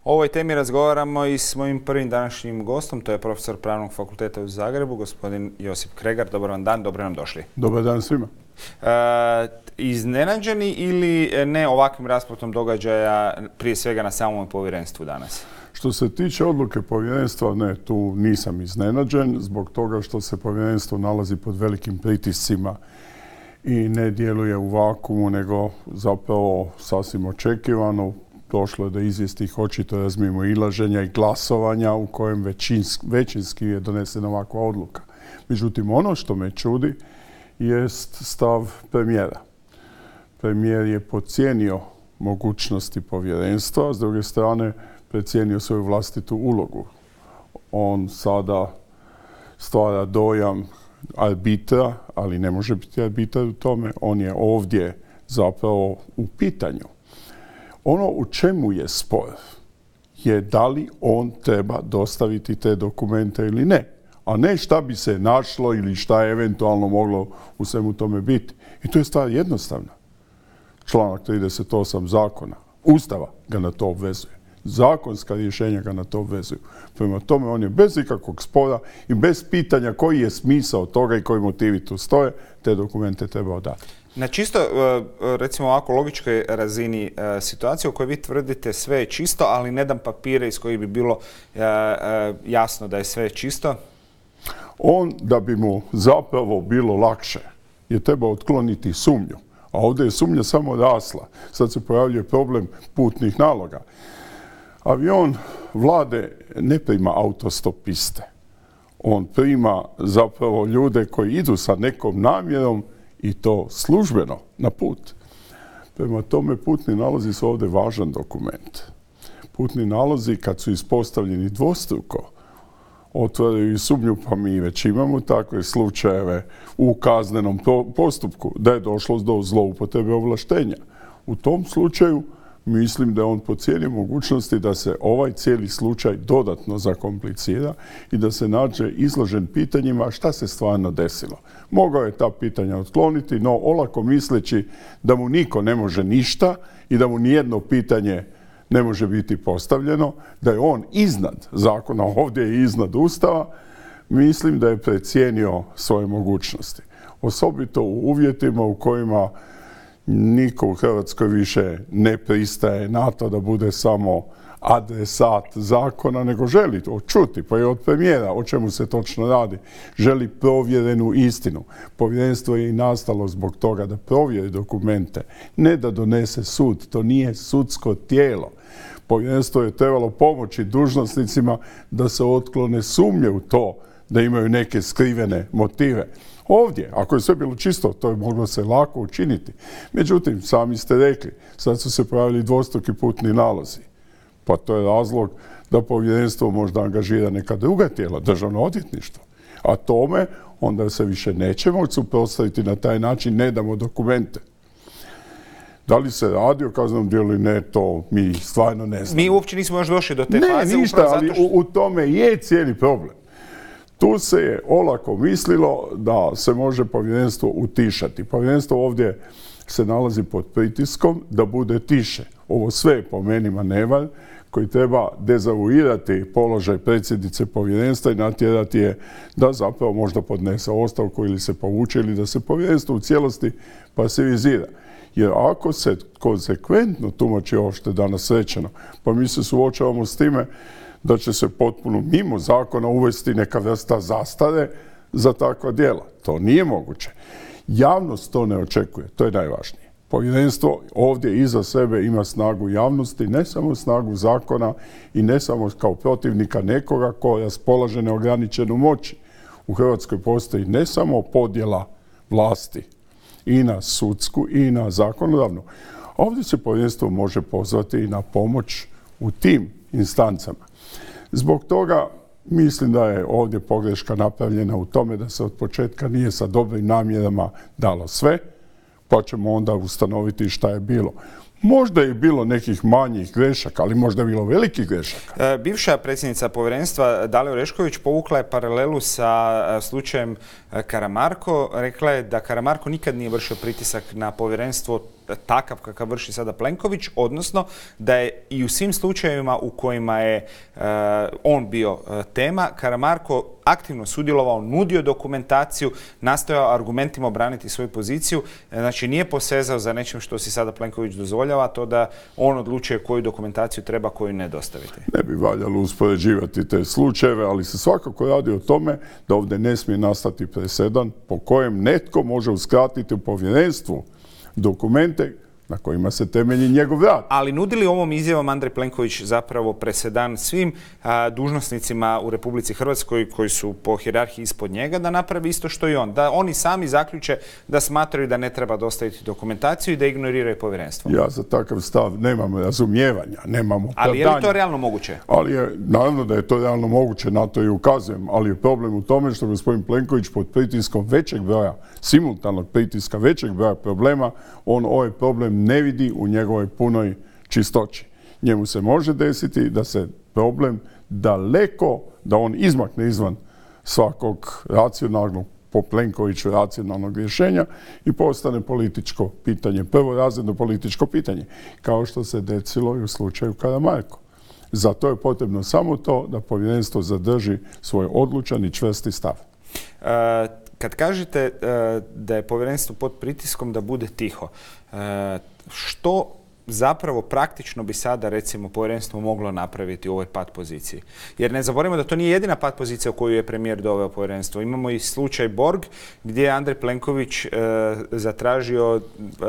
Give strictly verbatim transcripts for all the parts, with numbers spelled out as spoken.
O ovoj temi razgovaramo i s mojim prvim današnjim gostom, to je profesor Pravnog fakulteta u Zagrebu, gospodin Josip Kregar. Dobar vam dan, dobro nam došli. Dobar dan svima. E, iznenađeni ili ne ovakvim raspletom događaja, prije svega na samom povjerenstvu danas? Što se tiče odluke povjerenstva, ne, tu nisam iznenađen zbog toga što se povjerenstvo nalazi pod velikim pritiscima i ne djeluje u vakuumu, nego zapravo sasvim očekivano. Došlo je do izvjesnih očito razmimoilaženja i glasovanja u kojem većinski, većinski je donesena ovakva odluka. Međutim, ono što me čudi jest stav premijera. Premijer je podcijenio mogućnosti povjerenstva, s druge strane precijenio svoju vlastitu ulogu. On sada stvara dojam arbitra, ali ne može biti arbitar u tome. On je ovdje zapravo u pitanju. Ono u čemu je spor je da li on treba dostaviti te dokumente ili ne, a ne šta bi se našlo ili šta je eventualno moglo u svemu tome biti. I to je stvar jednostavna. Članak trideset osam zakona, Ustava ga na to obvezuje. Zakonska rješenja ga na to obvezuju. Prema tome on je bez ikakvog spora i bez pitanja koji je smisao toga i koji motivi tu stoje, te dokumente treba dati. Na čisto, recimo ovako logičkoj razini situacije u kojoj vi tvrdite sve je čisto, ali ne dam papire iz kojih bi bilo jasno da je sve čisto? On, da bi mu zapravo bilo lakše, je trebao otkloniti sumnju. A ovdje je sumnja samo rasla. Sad se pojavljuje problem putnih naloga. Avion vlade ne prima autostopiste. On prima zapravo ljude koji idu sa nekom namjerom i to službeno na put. Prema tome putni nalozi su ovdje važan dokument. Putni nalozi kad su ispostavljeni dvostruko otvaraju i sumnju, pa mi već imamo takve slučajeve u kaznenom postupku da je došlo do zloupotrebe ovlaštenja. U tom slučaju mislim da je on podcijenio mogućnosti da se ovaj cijeli slučaj dodatno zakomplicira i da se nađe izložen pitanjima šta se stvarno desilo. Mogao je ta pitanja otkloniti, no olako misleći da mu niko ne može ništa i da mu nijedno pitanje ne može biti postavljeno, da je on iznad zakona, ovdje je iznad Ustava, mislim da je precijenio svoje mogućnosti. Osobito u uvjetima u kojima niko u Hrvatskoj više ne pristaje na to da bude samo adresat zakona, nego želi to čuti, pa i od premijera o čemu se točno radi. Želi provjerenu istinu. Povjerenstvo je i nastalo zbog toga da provjeri dokumente, ne da donese sud. To nije sudsko tijelo. Povjerenstvo je trebalo pomoći dužnosnicima da se otklone sumnje u to da imaju neke skrivene motive. Ovdje, ako je sve bilo čisto, to je moglo se lako učiniti. Međutim, sami ste rekli, sad su se pojavili dvostruki putni nalozi. Pa to je razlog da povjerenstvo možda angažira neka druga tijela, državno odvjetništvo. A tome onda se više neće moći suprotstaviti na taj način, ne damo dokumente. Da li se radi o kaznenom djelu ili ne, to mi stvarno ne znamo. Mi uopće nismo još došli do te ne, faze. Ne, ništa, ali što... u, u tome je cijeli problem. Tu se je olako mislilo da se može povjerenstvo utišati. Povjerenstvo ovdje se nalazi pod pritiskom da bude tiše. Ovo sve je po meni manevar koji treba dezavuirati položaj predsjednice povjerenstva i natjerati je da zapravo možda podnese ostavku ili se povuče ili da se povjerenstvo u cijelosti pasivizira. Jer ako se konsekventno tumači ovo što je danas rečeno, pa mi se suočavamo s time da će se potpuno mimo zakona uvesti neka vrsta zastare za takva djela. To nije moguće. Javnost to ne očekuje, to je najvažnije. Povjerenstvo ovdje iza sebe ima snagu javnosti, ne samo snagu zakona i ne samo kao protivnika nekoga ko raspolaže neograničenu moći. U Hrvatskoj postoji ne samo podjela vlasti i na sudsku i na zakonodavnu. Ovdje se povjerenstvo može pozvati i na pomoć u tim instancama. Zbog toga mislim da je ovdje pogreška napravljena u tome da se od početka nije sa dobrim namjerama dalo sve, pa ćemo onda ustanoviti šta je bilo. Možda je bilo nekih manjih grešaka, ali možda je bilo velikih grešaka. E, bivša predsjednica povjerenstva Dalija Orešković povukla je paralelu sa slučajem Karamarko. Rekla je da Karamarko nikad nije vršio pritisak na povjerenstvo takav kakav vrši sada Plenković, odnosno da je i u svim slučajevima u kojima je uh, on bio uh, tema, Karamarko aktivno sudjelovao, nudio dokumentaciju, nastojao argumentima obraniti svoju poziciju, znači nije posezao za nečim što si sada Plenković dozvoljava, to da on odlučuje koju dokumentaciju treba, koju ne dostaviti. Ne bi valjalo uspoređivati te slučajeve, ali se svakako radi o tome da ovdje ne smije nastati presedan po kojem netko može uskratiti u povjerenstvu dokumente na kojima se temelji njegov rad. Ali nudili ovom izjavom Andrej Plenković zapravo presedan svim a, dužnosnicima u Republici Hrvatskoj koji su po hijerarhiji ispod njega da napravi isto što i on. Da oni sami zaključe da smatraju da ne treba dostaviti dokumentaciju i da ignoriraju povjerenstvo. Ja za takav stav nemam razumijevanja, nemam opravdanja. Ali je li to realno moguće? Ali je, naravno da je to realno moguće, na to i ukazujem, ali je problem u tome što gospodin Plenković pod pritiskom većeg broja, simultanog pritiska većeg broja problema, on ovaj problem ne vidi u njegovoj punoj čistoći. Njemu se može desiti da se problem daleko, da on izmakne izvan svakog racionalnog, po Plenkoviću racionalnog rješenja i postane političko pitanje, prvorazredno političko pitanje, kao što se desilo i u slučaju Karamarko. Zato je potrebno samo to da povjerenstvo zadrži svoj odlučan i čvrsti stav. Uh, kad kažete uh, da je povjerenstvo pod pritiskom da bude tiho, uh, što zapravo praktično bi sada recimo povjerenstvo moglo napraviti u ovoj pat poziciji? Jer ne zaboravimo da to nije jedina pat pozicija u koju je premijer doveo povjerenstvo. Imamo i slučaj Borg gdje je Andrej Plenković e, zatražio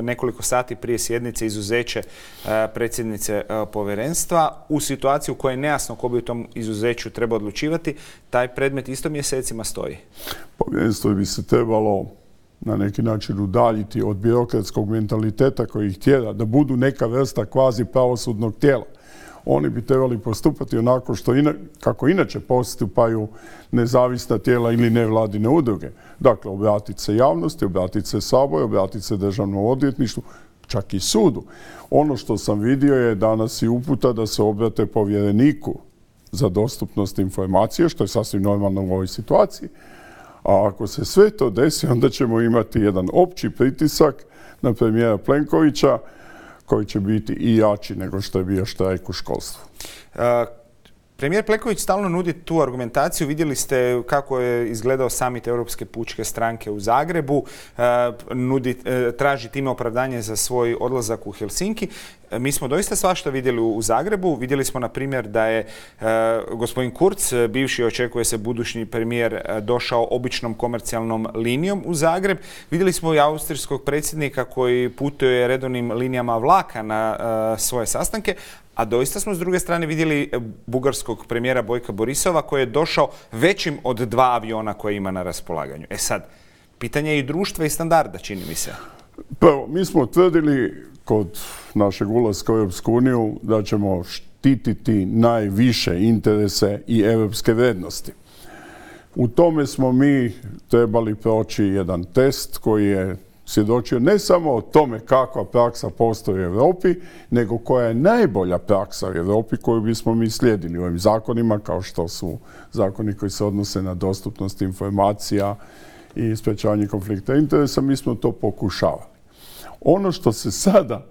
nekoliko sati prije sjednice izuzeće e, predsjednice e, povjerenstva u situaciji u kojoj je nejasno ko bi u tom izuzeću treba odlučivati. Taj predmet isto mjesecima stoji. Povjerenstvo bi se trebalo na neki način udaljiti od birokratskog mentaliteta koji ih tjera da budu neka vrsta kvazi pravosudnog tijela. Oni bi trebali postupati onako što ina, kako inače postupaju nezavisna tijela ili nevladine udruge. Dakle, obratiti se javnosti, obratiti se Saboru, obratiti se Državnom odvjetništvu, čak i sudu. Ono što sam vidio je danas i uputa da se obrate povjereniku za dostupnost informacije, što je sasvim normalno u ovoj situaciji. A ako se sve to desi, onda ćemo imati jedan opći pritisak na premijera Plenkovića koji će biti i jači nego što je bio štrajk u školstvu. Uh, premijer Plenković stalno nudi tu argumentaciju. Vidjeli ste kako je izgledao samit Europske pučke stranke u Zagrebu. Uh, nudi, uh, traži time opravdanje za svoj odlazak u Helsinki. Uh, mi smo doista svašta vidjeli u, u Zagrebu. Vidjeli smo, na primjer, da je uh, gospodin Kurz, bivši, očekuje se budući premijer, uh, došao običnom komercijalnom linijom u Zagreb. Vidjeli smo i austrijskog predsjednika koji putuje redovnim linijama vlaka na uh, svoje sastanke. A doista smo s druge strane vidjeli bugarskog premijera Bojka Borisova koji je došao većim od dva aviona koje ima na raspolaganju. E sad, pitanje je i društva i standarda, čini mi se. Prvo, mi smo tvrdili kod našeg ulaska u Europsku uniju da ćemo štititi najviše interese i europske vrijednosti. U tome smo mi trebali proći jedan test koji je svjedočio ne samo o tome kakva praksa postoji u Europi, nego koja je najbolja praksa u Europi koju bismo mi slijedili u ovim zakonima, kao što su zakoni koji se odnose na dostupnost informacija i sprečavanje konflikta interesa. Mi smo to pokušavali. Ono što se sada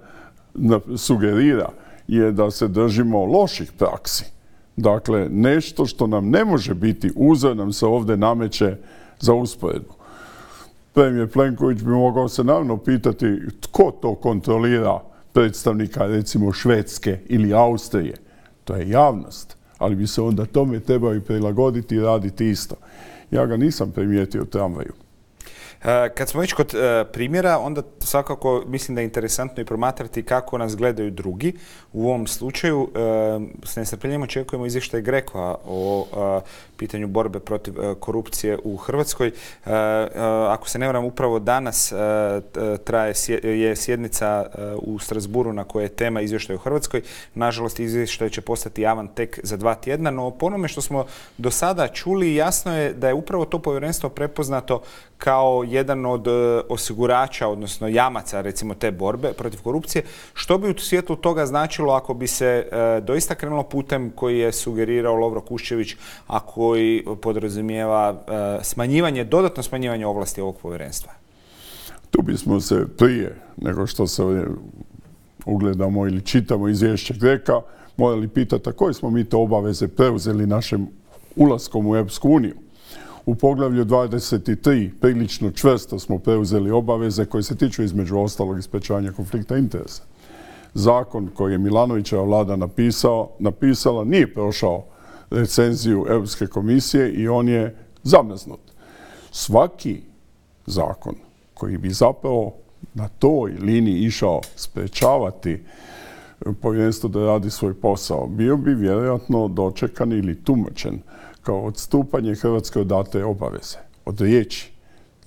sugerira je da se držimo loših praksi. Dakle, nešto što nam ne može biti uzor nam se ovdje nameće za usporedbu. Premijer Plenković bi mogao se naravno pitati tko to kontrolira predstavnika recimo Švedske ili Austrije. To je javnost, ali bi se onda tome trebali prilagoditi i raditi isto. Ja ga nisam primijetio u tramvaju. Kad smo već kod primjera, onda svakako mislim da je interesantno i promatrati kako nas gledaju drugi. U ovom slučaju s nestrpljenjem očekujemo izvještaj GRECO-a o pitanju borbe protiv korupcije u Hrvatskoj. Ako se ne varam, upravo danas traje je sjednica u Strasburu na kojoj je tema izvještaj u Hrvatskoj. Nažalost, izvještaj će postati javan tek za dva tjedna, no po onome što smo do sada čuli, jasno je da je upravo to povjerenstvo prepoznato kao jedan od osigurača, odnosno jamaca, recimo, te borbe protiv korupcije. Što bi u svijetlu toga značilo ako bi se e, doista krenulo putem koji je sugerirao Lovro Kuščević, a koji podrazumijeva e, smanjivanje, dodatno smanjivanje ovlasti ovog povjerenstva? Tu bismo se prije nego što se ugledamo ili čitamo izvješće Greka morali pitati a koje smo mi to obaveze preuzeli našim ulaskom u Europsku uniju. U poglavlju dvadeset tri prilično čvrsto smo preuzeli obaveze koje se tiču između ostalog i sprečavanja konflikta interesa. Zakon koji je Milanovićeva vlada napisao, napisala nije prošao recenziju Europske komisije i on je zamrznut. Svaki zakon koji bi zapravo na toj liniji išao sprečavati povjerenstvo da radi svoj posao, bio bi vjerojatno dočekan ili tumačen kao odstupanje Hrvatske od date obaveze, od riječi.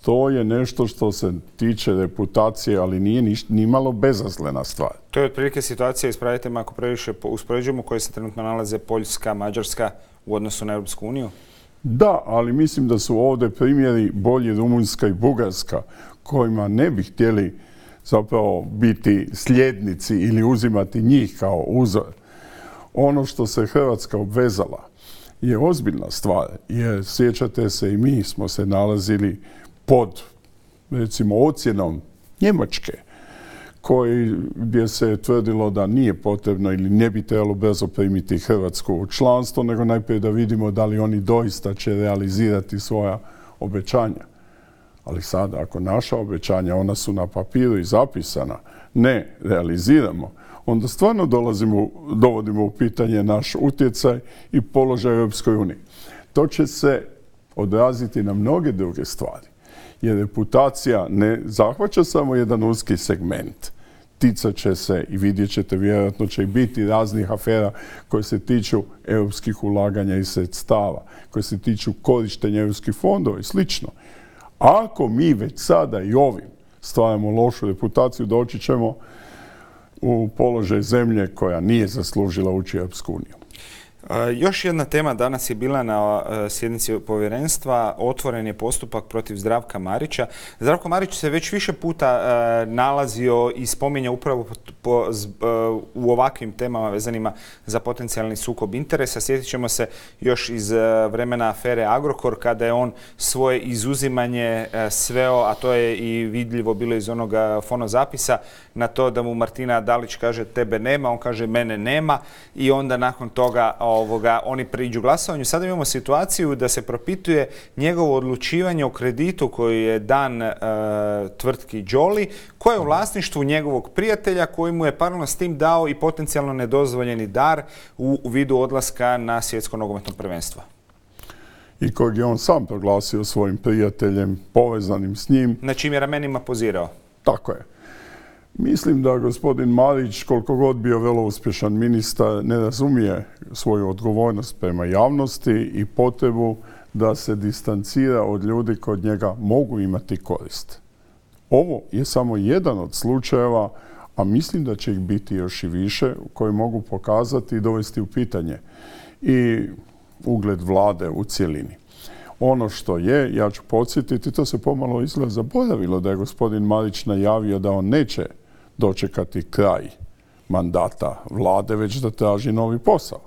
To je nešto što se tiče reputacije, ali nije niš, ni malo bezazlena stvar. To je otprilike situacija, ispravite me ako previše uspoređujemo, koje se trenutno nalaze Poljska, Mađarska u odnosu na Europsku uniju? Da, ali mislim da su ovdje primjeri bolji Rumunjska i Bugarska, kojima ne bi htjeli zapravo biti sljednici ili uzimati njih kao uzor. Ono što se Hrvatska obvezala je ozbiljna stvar, jer sjećate se i mi smo se nalazili pod, recimo, ocjenom Njemačke, koji, gdje se tvrdilo da nije potrebno ili ne bi trebalo brzo primiti Hrvatsku u članstvo, nego najprije da vidimo da li oni doista će realizirati svoja obećanja. Ali sada, ako naša obećanja, ona su na papiru i zapisana, ne realiziramo, onda stvarno dolazimo, dovodimo u pitanje naš utjecaj i položaj u Europskoj uniji. To će se odraziti na mnoge druge stvari, jer reputacija ne zahvaća samo jedan uski segment. Ticat će se i vidjet ćete, vjerojatno će i biti raznih afera koje se tiču europskih ulaganja i sredstava, koje se tiču korištenja europskih fondova i slično. Ako mi već sada i ovim stvaramo lošu reputaciju, doći ćemo u položaj zemlje koja nije zaslužila ući u Europsku uniju. Još jedna tema danas je bila na sjednici povjerenstva, otvoren je postupak protiv Zdravka Marića. Zdravko Marić se već više puta nalazio i spominja upravo po, u ovakvim temama vezanima za potencijalni sukob interesa. Sjetit ćemo se još iz vremena afere Agrokor, kada je on svoje izuzimanje sveo, a to je i vidljivo bilo iz onog fonozapisa, na to da mu Martina Dalić kaže tebe nema, on kaže mene nema i onda nakon toga Ovoga, oni priđu glasovanju. Sada imamo situaciju da se propituje njegovo odlučivanje o kreditu koji je dan e, tvrtki Jolly, koja je u vlasništvu njegovog prijatelja koji mu je paralelno s tim dao i potencijalno nedozvoljeni dar u vidu odlaska na svjetsko nogometno prvenstvo. I kojeg je on sam proglasio svojim prijateljem, povezanim s njim. Na čim je ramenima pozirao. Tako je. Mislim da gospodin Marić, koliko god bio vrlo uspješan ministar, ne razumije svoju odgovornost prema javnosti i potrebu da se distancira od ljudi koji od njega mogu imati korist. Ovo je samo jedan od slučajeva, a mislim da će ih biti još i više, koji mogu pokazati i dovesti u pitanje i ugled vlade u cjelini. Ono što je, ja ću podsjetiti, to se pomalo izgleda zaboravilo da je gospodin Marić najavio da on neće dočekati kraj mandata vlade, već da traži novi posao.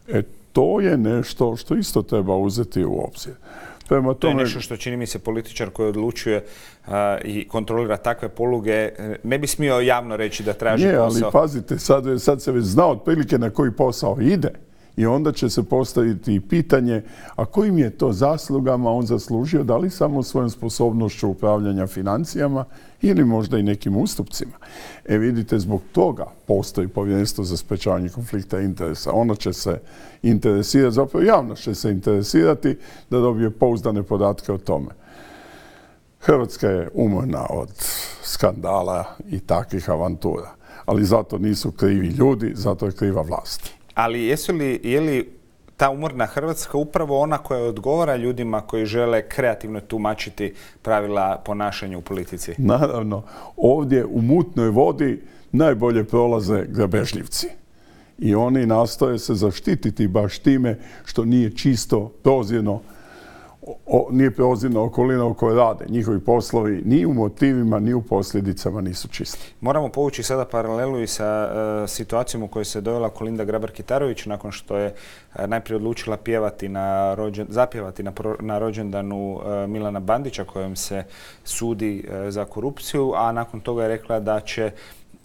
E, to je nešto što isto treba uzeti u obzir. Prema tome, to je nešto što čini mi se političar koji odlučuje uh, i kontrolira takve poluge, ne bi smio javno reći da traži nije, posao. Ali pazite, sad, sad se već zna otprilike na koji posao ide. I onda će se postaviti pitanje, a kojim je to zaslugama on zaslužio, da li samo svojom sposobnošću upravljanja financijama ili možda i nekim ustupcima. E vidite, zbog toga postoji povjerenstvo za sprečavanje konflikta interesa. Ono će se interesirati, zapravo javnost će se interesirati da dobije pouzdane podatke o tome. Hrvatska je umorna od skandala i takvih avantura, ali zato nisu krivi ljudi, zato je kriva vlast. Ali jesu li, je li ta umorna Hrvatska upravo ona koja odgovara ljudima koji žele kreativno tumačiti pravila ponašanja u politici? Naravno, ovdje u mutnoj vodi najbolje prolaze grabežljivci. I oni nastoje se zaštititi baš time što nije čisto prozirno o, nije prozirna okolina u kojoj rade. Njihovi poslovi ni u motivima, ni u posljedicama nisu čisti. Moramo povući sada paralelu i sa uh, situacijom u kojoj se dovela Kolinda Grabar-Kitarović nakon što je uh, najprije odlučila pjevati na rođen, zapjevati na, pro, na rođendanu uh, Milana Bandića kojem se sudi uh, za korupciju, a nakon toga je rekla da će,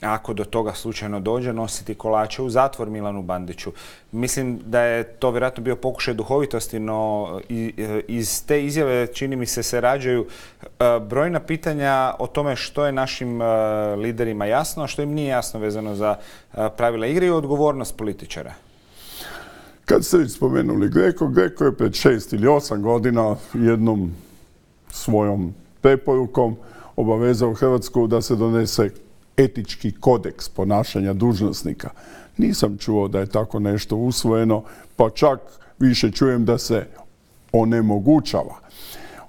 ako do toga slučajno dođe, nositi kolače u zatvor Milanu Bandiću. Mislim da je to vjerojatno bio pokušaj duhovitosti, no iz te izjave čini mi se se rađaju brojna pitanja o tome što je našim liderima jasno, a što im nije jasno vezano za pravila igre i odgovornost političara. Kad ste već spomenuli Greko, Greko je pred šest ili osam godina jednom svojom preporukom obavezao Hrvatsku da se donese etički kodeks ponašanja dužnosnika. Nisam čuo da je tako nešto usvojeno, pa čak više čujem da se onemogućava.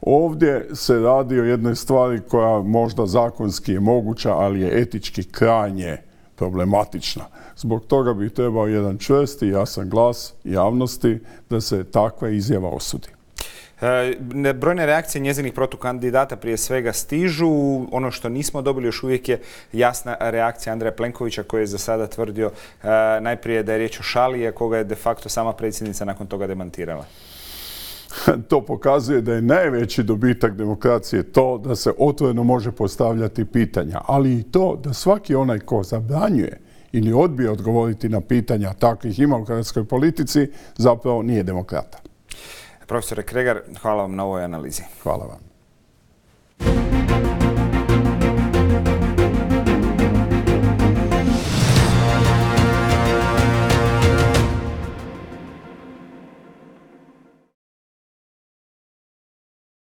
Ovdje se radi o jednoj stvari koja možda zakonski je moguća, ali je etički krajnje problematična. Zbog toga bi trebao jedan čvrsti i jasan glas javnosti da se takva izjava osudi. E, brojne reakcije njezinih protukandidata prije svega stižu. Ono što nismo dobili još uvijek je jasna reakcija Andreja Plenkovića koji je za sada tvrdio e, najprije da je riječ o šali, a koga je de facto sama predsjednica nakon toga demantirala. To pokazuje da je najveći dobitak demokracije to da se otvoreno može postavljati pitanja, ali i to da svaki onaj ko zabranjuje ili odbije odgovoriti na pitanja, takvih ima u hrvatskoj politici, zapravo nije demokrata. Profesore Kregar, hvala vam na ovoj analizi. Hvala vam.